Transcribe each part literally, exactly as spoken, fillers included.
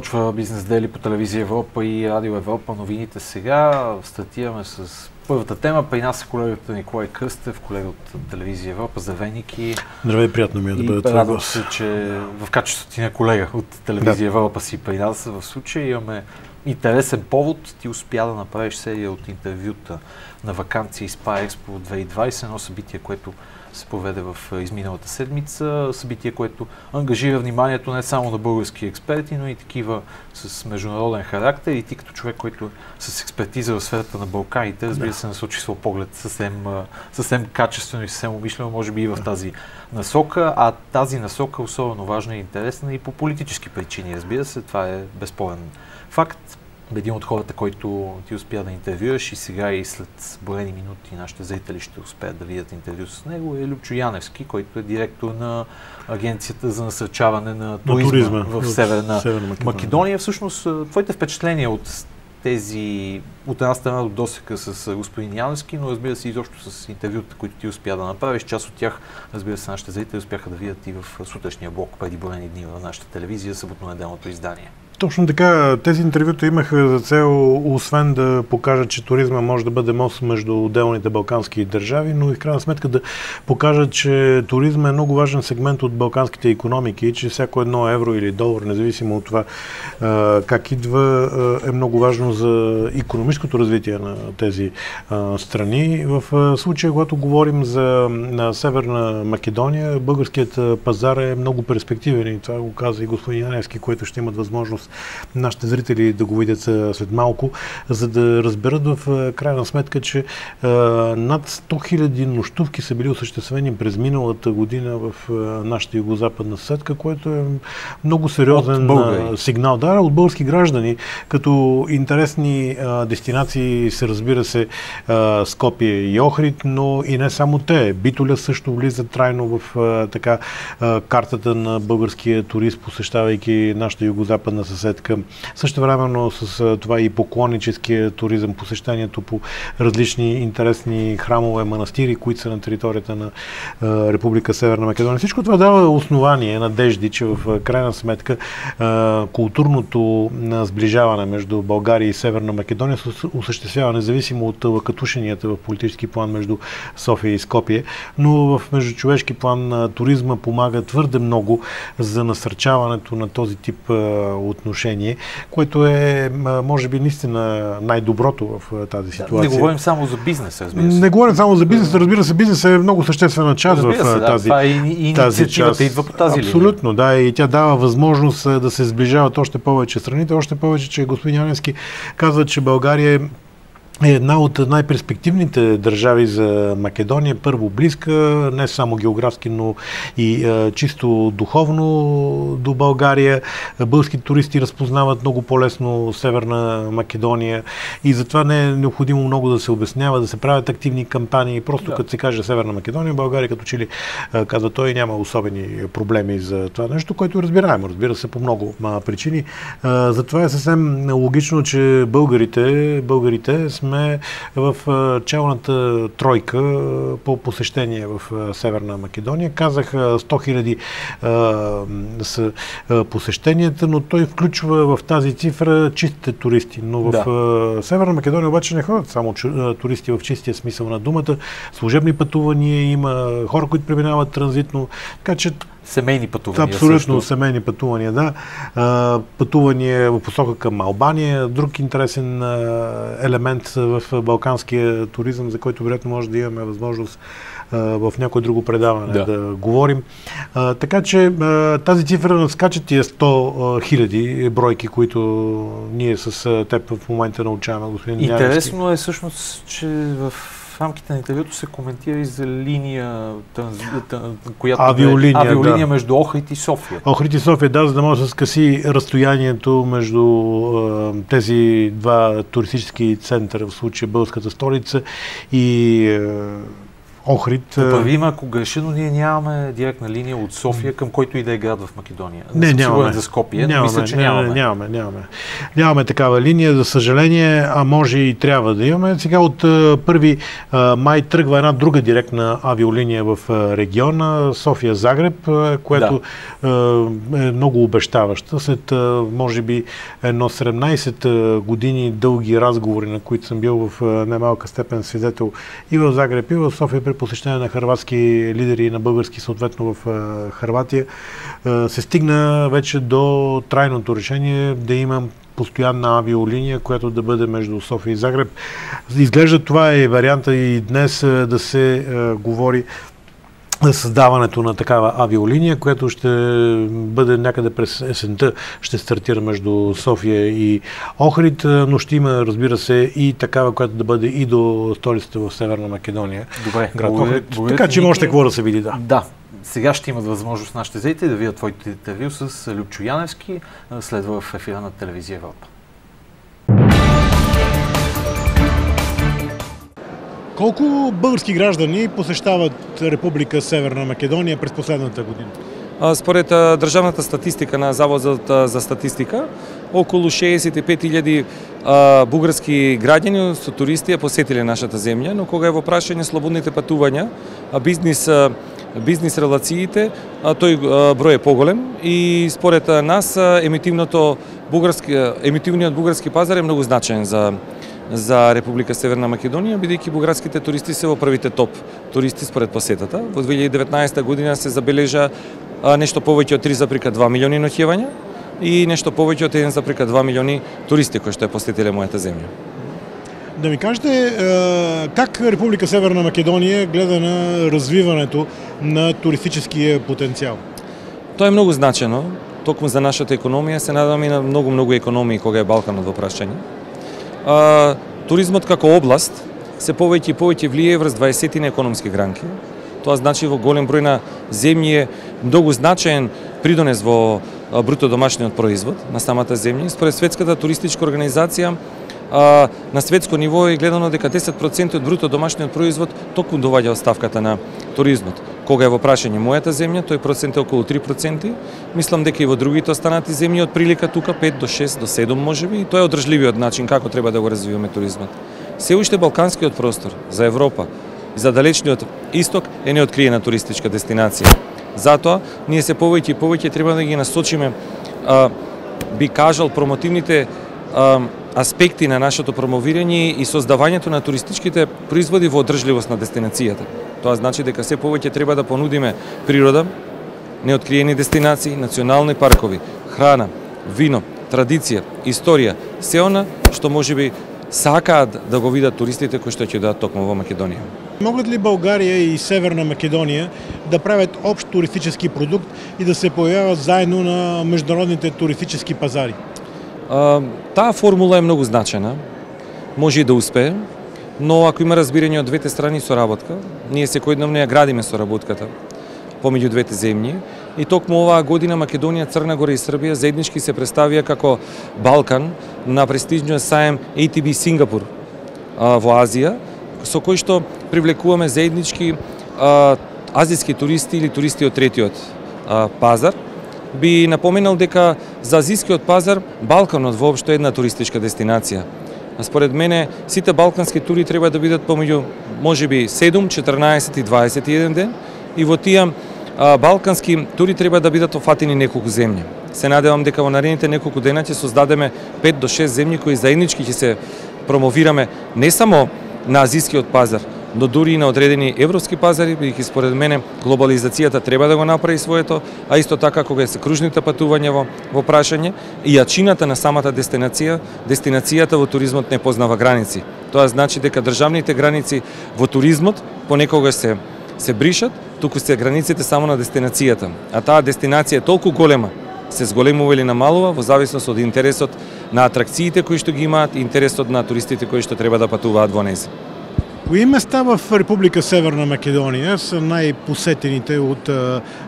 Започва Бизнес Дели по телевизия Европа и Радио Европа. Новините сега. Стартираме с първата тема. При нас е колегата Николай Кръстев, колега от телевизия Европа. Здравей, Ники. Здравей, приятно ми е да бъда това. Радвам се, че в качеството ти на колега от телевизия да. Европа си при нас. В случая имаме интересен повод. Ти успя да направиш серия от интервюта на ваканция Спа Експо две хиляди и двадесета, едно събитие, което се проведе в изминалата седмица. Събитие, което ангажира вниманието не само на български експерти, но и такива с международен характер. И ти като човек, който с експертиза в сферата на Балканите, разбира се, насочи своя поглед съвсем, съвсем качествено и съвсем умишлено, може би и в тази насока. А тази насока е особено важна и интересна и по политически причини, разбира се. Това е безспорен факт. Един от хората, който ти успя да интервюраш и сега и след броени минути нашите зрители ще успеят да видят интервю с него, е Любчо Яневски, който е директор на Агенцията за насърчаване на туризма, туризма в Северна, Северна Македония. Македония. Всъщност, твоите впечатления от тези, от една страна от досека с господин Яневски, но разбира се изобщо с интервюта, които ти успя да направиш. Част от тях, разбира се, нашите зрители успяха да видят и в сутрешния блок преди броени дни в нашата телевизия, съботно-неделното издание. Точно така, тези интервюта имаха за цел, освен да покажат, че туризма може да бъде мост между отделните балкански държави, но и в крайна сметка да покажат, че туризма е много важен сегмент от балканските икономики и че всяко едно евро или долар, независимо от това как идва, е много важно за икономическото развитие на тези страни. В случая, когато говорим за Северна Македония, българският пазар е много перспективен и това го каза и господин Яневски, който ще имат възможност нашите зрители да го видят след малко, за да разберат в крайна сметка, че а, над сто хиляди нощувки са били осъществени през миналата година в а, нашата югозападна съседка, което е много сериозен а, сигнал. Да, от български граждани, като интересни а, дестинации се разбира се а, Скопие и Охрид, но и не само те. Битоля също влиза трайно в а, така а, картата на българския турист, посещавайки нашата югозападна съседка. Също времено с това и поклонническия туризъм, посещението по различни интересни храмове, манастири, които са на територията на а, Република Северна Македония. Всичко това дава основание, надежди, че в крайна сметка а, културното сближаване между България и Северна Македония се осъществява независимо от лъкатушенията в политически план между София и Скопие, но в междучовешки план туризма помага твърде много за насърчаването на този тип а, отношение, което е, може би, наистина най-доброто в тази ситуация. Да, не говорим само за бизнес, разбира се. Не говорим само за бизнес, разбира се, бизнес е много съществена част в се, тази, да, и, и тази част. Идва по тази Абсолютно, линия. Да, и тя дава възможност да се сближават още повече страните, още повече, че господин Яневски казва, че България е е една от най-перспективните държави за Македония, първо близка, не само географски, но и а, чисто духовно до България. Български туристи разпознават много по-лесно Северна Македония и затова не е необходимо много да се обяснява, да се правят активни кампании. Просто да. Като се каже Северна Македония, България като че ли казва той, няма особени проблеми за това нещо, което е разбираемо, разбира се, по много причини. А, затова е съвсем логично, че българите, българите сме в челната тройка по посещение в Северна Македония. Казах сто хиляди са посещенията, но той включва в тази цифра чистите туристи. Но в да. Северна Македония обаче не ходят само туристи в чистия смисъл на думата. Служебни пътувания има, хора, които преминават транзитно. Така че семейни пътувания. Абсолютно, също. Семейни пътувания, да. А, пътувания в посока към Албания. Друг интересен а, елемент в балканския туризъм, за който вероятно може да имаме възможност а, в някое друго предаване да, да говорим. А, така че а, тази цифра надскача тия сто хиляди бройки, които ние с теб в момента научаваме, господин Яневски. Интересно е всъщност, че в В рамките на интервюто се коментира и за линия, която авиолиния, е авиолиния да. между Охрид и София. Охрид и София, да, за да може да се скъси разстоянието между е, тези два туристически центъра, в случая българската столица и е, Охрид. Поправи ме, ако греша, но ние нямаме директна линия от София към който и да е град в Македония. Не, нямаме. За Скопие, нямаме, мисля, че не, нямаме. Не, нямаме, нямаме. Нямаме такава линия, за съжаление, а може и трябва да имаме. Сега от първи май тръгва една друга директна авиолиния в региона, София-Загреб, което да. е много обещаваща. След, може би, едно седемнайсет години дълги разговори, на които съм бил в немалка степен свидетел и в Загреб, и в София при посещение на хърватски лидери и на български, съответно в Хърватия, се стигна вече до трайното решение да имам постоянна авиолиния, която да бъде между София и Загреб. Изглежда това е варианта и днес да се говори за създаването на такава авиолиния, която ще бъде някъде през есента, ще стартира между София и Охрид, но ще има, разбира се, и такава, която да бъде и до столицата в Северна Македония. Добре, град благодаря, Охрид. Така че има още какво да се види, да. Да. Сега ще имат възможност нашите зрители да видят твоите интервю с Любчо Яневски, следва в ефира на телевизия Европа. Колко български граждани посещават Република Северна Македония през последната година? Според државната статистика на Заводот за статистика, околу шеесет и пет илјади бугарски граѓани со туристи посетиле нашата земја, но кога е во прашање слободните патувања, бизнис бизнис релациите, тој број е поголем и според нас емитивното бугарски емитивниот бугарски пазар е многу значаен за за Република Северна Македонија, бидејќи бугарските туристи се во првите топ туристи според посетата. Во две илјади и деветнаесета година се забележа нешто повеќе од три зарез два милиони ноќевања и нешто повеќе од еден зарез два милиони туристи кои што ја посетиле мојата земја. Да ми кажете, как Република Северна Македонија гледа на развиването на туристическия потенцијал? Тоа е многу значено, токму за нашата економија, се надам и на многу-многу економии кога е Балканот во прашање. А, туризмот како област се повеќе и повеќе влие врз дваесет економски гранки. Тоа значи во голем број на земји е многу значаен придонес во бруто домашниот производ на самата земја. Според Светската туристичка организација, а, на светско ниво е гледано дека десет проценти од бруто домашниот производ токму доаѓа од ставката на туризмот. Кога е во прашање мојата земја, тој процент е околу три проценти. Мислам дека и во другите останати земји од прилика тука пет до шест до седум можеби, и тоа е одржливиот начин како треба да го развиваме туризмот. Се уште балканскиот простор за Европа и за далечниот исток е неоткриена туристичка дестинација. Затоа ние се повеќе и повеќе треба да ги насочиме, а, би кажал, промотивните а, аспекти на нашето промовирање и создавањето на туристичките производи во одржливост на дестинацијата. Тоа значи дека се повеќе треба да понудиме природа, неоткриени дестинации, национални паркови, храна, вино, традиција, историја, се она што можеби сакаат да го видат туристите кои што ќе дојдат токму во Македонија. Могат ли България и Северна Македония да правят общ туристически продукт и да се появяват заедно на международните туристически пазари? А, таа формула е многу значена, може и да успее, но ако има разбирање од двете страни соработка, ние секојдневно ја градиме соработката помеѓу двете земји и токму оваа година Македонија, Црна Гора и Србија заеднички се представија како Балкан на престижниот саем ей ти би Сингапур а, во Азија, со кој што привлекуваме заеднички а, азијски туристи или туристи од третиот а, пазар. Би напоменал дека за азијскиот пазар Балканот воопшто е една туристичка дестинација. Според мене сите балкански тури треба да бидат помеѓу можеби седум, четрнаесет и дваесет и еден ден и во тие а, балкански тури треба да бидат офатени неколку земји. Се надевам дека во наредните неколку дена ќе создадеме пет до шест земји кои заеднички ќе се промовираме не само на азијскиот пазар, но дури и на одредени европски пазари, бидејќи според мене глобализацијата треба да го направи своето, а исто така кога се кружните патувања во, во прашање и јачината на самата дестинација, дестинацијата во туризмот не познава граници. Тоа значи дека државните граници во туризмот понекогаш се се бришат, туку се границите само на дестинацијата. А таа дестинација е толку голема, се зголемува или намалува во зависност од интересот на атракциите кои што ги имаат и интересот на туристите кои што треба да патуваат во нејзин. Кои места в Република Северна Македонија са најпосетените од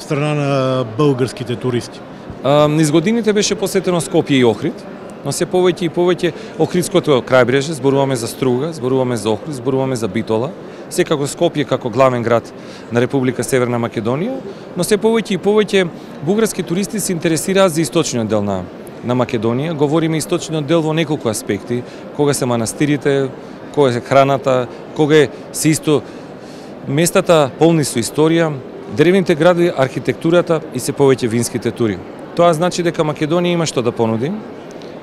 страна на българските туристи? Низ годините беше посетено Скопје и Охрид, но се повеќе и повеќе Охридското крајбрежје, зборуваме за Струга, зборуваме за Охрид, зборуваме за Битола, секако Скопје како главен град на Република Северна Македонија, но се повеќе и повеќе бугарски туристи се интересираат за источниот дел на на Македонија. Говориме источниот дел во неколку аспекти, кога се манастирите, кога е храната, кога се исто местата полни со историја, древните градови, архитектурата и се повеќе винските тури. Тоа значи дека Македонија има што да понуди,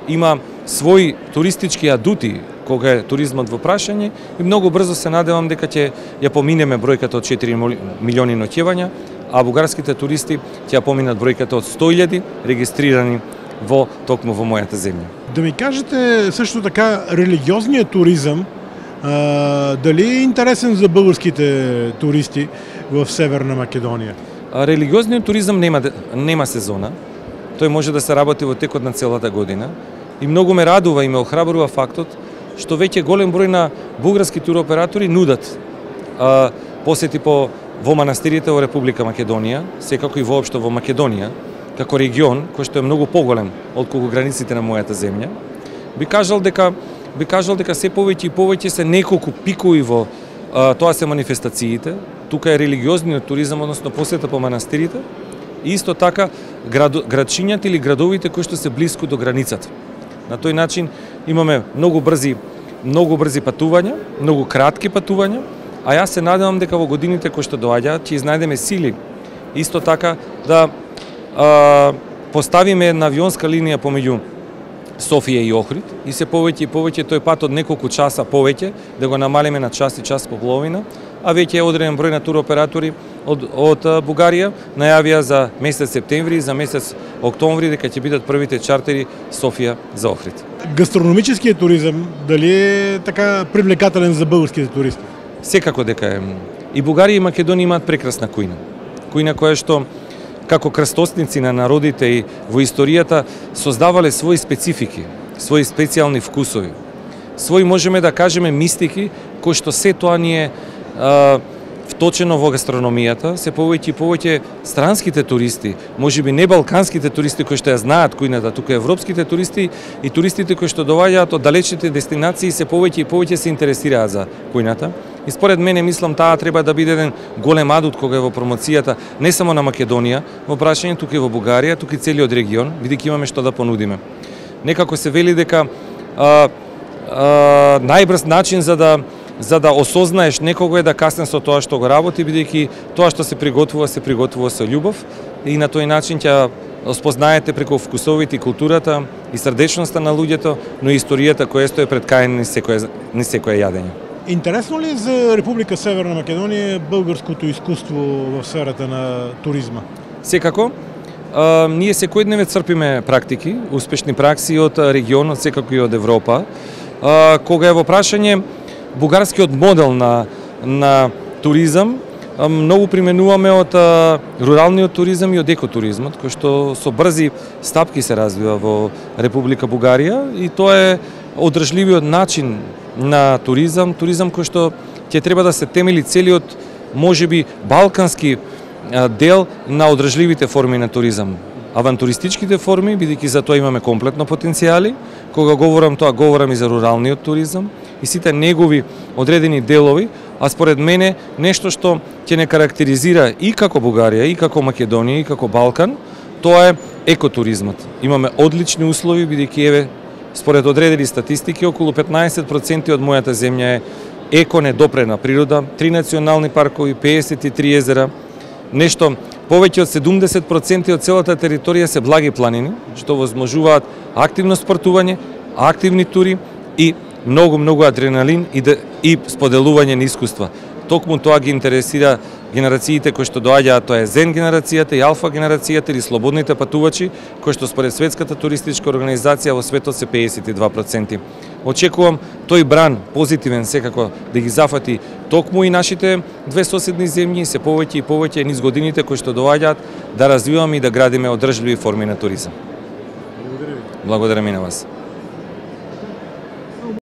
има своји туристички адути кога е туризмот во прашање и многу брзо се надевам дека ќе ја поминеме бројката од четири милиони ноќевања, а бугарските туристи ќе ја поминат бројката од сто илјади регистрирани во токму во мојата земја. Да ми кажете също така религиозният туризъм, а, дали е интересен за българските туристи в Северна Македонија? А, религиозниот туризам нема нема сезона. Тој може да се работи во текот на целата година и многу ме радува и ме охрабрува фактот што веќе голем број на бугарски туроператори нудат а, посети по во манастирите во Република Македонија, секако и воопшто во Македонија, како регион кој што е многу поголем отколку границите на мојата земја. Би кажал дека би кажал дека се повеќе и повеќе се неколку пикови во а, тоа се манифестациите. Тука е религиозниот туризам, односно посета по манастирите, и исто така град, градчињата или градовите кои што се блиску до границата. На тој начин имаме многу брзи многу брзи патувања, многу кратки патувања, а јас се надевам дека во годините кои што доаѓаат ќе изнајдеме сили исто така да а, поставиме една авионска линија помеѓу Софија и Охрид и се повеќе и повеќе тој пат од неколку часа повеќе да го намалиме на час и час по половина, а веќе е одреден број на туроператори од, од Бугарија најавија за месец септември и за месец октомври дека ќе бидат првите чартери Софија за Охрид. Гастрономическият туризам дали е така привлекателен за българските туристи? Секако дека е. И Бугарија и Македонија имаат прекрасна кујна. Кујна која што како крстосници на народите и во историјата создавале своји специфики, своји специјални вкусови, своји можеме да кажеме мистики кои што се тоа ни е а, вточено во гастрономијата. Се повеќе и повеќе странските туристи, можеби не балканските туристи кои што ја знаат кујната, тука европските туристи и туристите кои што доаѓаат од далечните дестинации се повеќе и повеќе се интересираат за кујната. И според мене мислам таа треба да биде еден голем адут кога е во промоцијата не само на Македонија, во прашање тука и во Бугарија, тука и целиот регион, бидејќи имаме што да понудиме. Некако се вели дека а, а, најбрз начин за да за да осознаеш некого е да касне со тоа што го работи, бидејќи тоа што се приготвува се приготвува со љубов и на тој начин ќе спознаете преку вкусовите и културата и срдечноста на луѓето, но и историјата која стои пред кај ни секое ни секое јадење. Интересно ли е за Република Северна Македонија българското изкуство в сферата на туризма? Секако. А, ние секојдневно црпиме практики, успешни пракси од регионот, секако и од Европа. А, кога е во прашање бугарскиот модел на на туризам, а, многу применуваме од а, руралниот туризам и од екотуризмот, кој што со брзи стапки се развива во Република Бугарија и тоа е одржливиот начин на туризам, туризам кој што ќе треба да се темели целиот можеби балкански дел на одржливите форми на туризам. Авантуристичките форми, бидејќи за тоа имаме комплетно потенцијали, кога говорам тоа говорам и за руралниот туризам и сите негови одредени делови, а според мене нешто што ќе не карактеризира и како Бугарија, и како Македонија, и како Балкан, тоа е екотуризмот. Имаме одлични услови, бидејќи еве според одредени статистики, околу петнаесет проценти од мојата земја е еко недопрена природа, три национални паркови, педесет и три езера, нешто повеќе од седумдесет проценти од целата територија се благи планини, што возможуваат активно спортување, активни тури и многу многу адреналин и, да, и споделување на искуства. Токму тоа ги интересира генерациите кои што доаѓаат, тоа е Зен генерацијата и Алфа генерацијата или слободните патувачи, кои што според Светската туристичка организација во светот се педесет и два проценти. Очекувам тој бран позитивен секако да ги зафати токму и нашите две соседни земји, се повеќе и повеќе низ годините кои што доаѓаат да развиваме и да градиме одржливи форми на туризам. Благодаря ви. Благодарам и на вас.